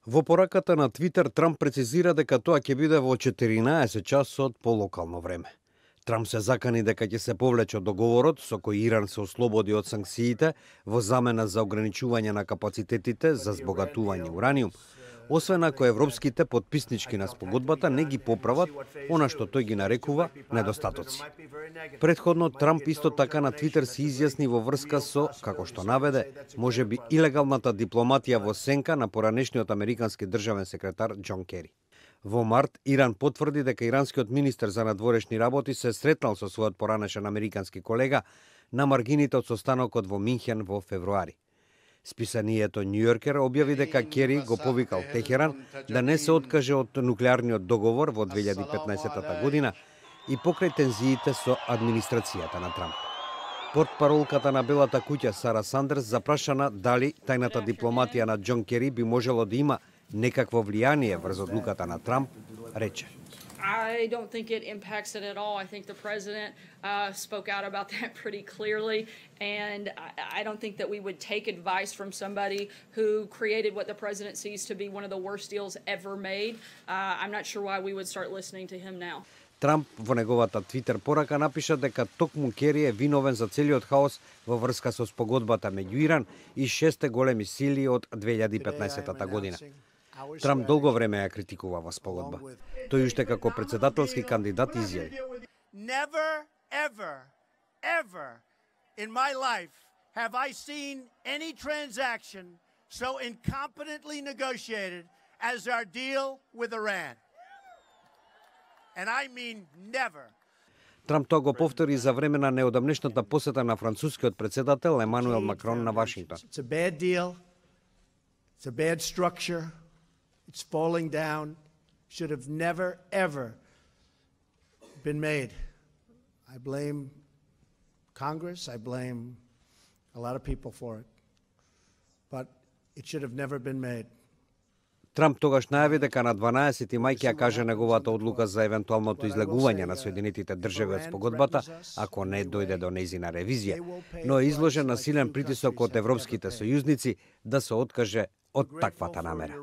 Во пораката на Твитер, Трамп прецизира дека тоа ќе биде во 14 часот по локално време. Трамп се закани дека ќе се повлече договорот со кој Иран се ослободи од санкциите во замена за ограничување на капацитетите за збогатување ураниум, освен ако европските подписнички на спогодбата не ги поправат она што тој ги нарекува недостатоци. Претходно Трамп исто така на Твитер се изјасни во врска со, како што наведе, можеби илегалната дипломатија во сенка на поранешниот американски државен секретар Џон Кери. Во март Иран потврди дека иранскиот министер за надворешни работи се сретнал со својот поранешен американски колега на маргините од состанокот во Минхен во февруари. Списанието Нью Йоркер објави дека Кери го повикал Техеран да не се откаже од нуклеарниот договор во 2015 година и покрај тензиите со администрацијата на Трамп. Портпаролката на Белата куќа Сара Сандерс запрашана дали тајната дипломатија на Џон Кери би можело да има некакво влијание врз одлуката на Трамп, рече. I don't think it impacts it at all. I think the president spoke out about that pretty clearly, and I don't think that we would take advice from somebody who created what the president sees to be one of the worst deals ever made. I'm not sure why we would start listening to him now. Трамп во неговата Твитер порака напиша дека токму Кери е виновен за целиот хаос во врска со спогодбата меѓу Иран и 6 големи сили од 2015 година. Трамп долго време ја критикува во спогодба. Тој уште како председателски кандидат изјави: Never, ever in my life have I seen any transaction so incompetently negotiated as our deal with Iran. And I mean never. Трамп тоа го повтори за време на неодамнешната посета на францускиот председател Емануел Макрон на Вашингтон. It's a bad deal. It's a bad structure. It's falling down. Should have never, ever been made. I blame Congress. I blame a lot of people for it. But it should have never been made. Трамп тогаш најави дека на 12 мај ќе ја каже неговата одлука за евентуалното излегување на Соединетите држави од спогодбата, ако не дојде до нејзина ревизија, но е изложен на силен притисок од европските сојузници да се откаже од таквата намера.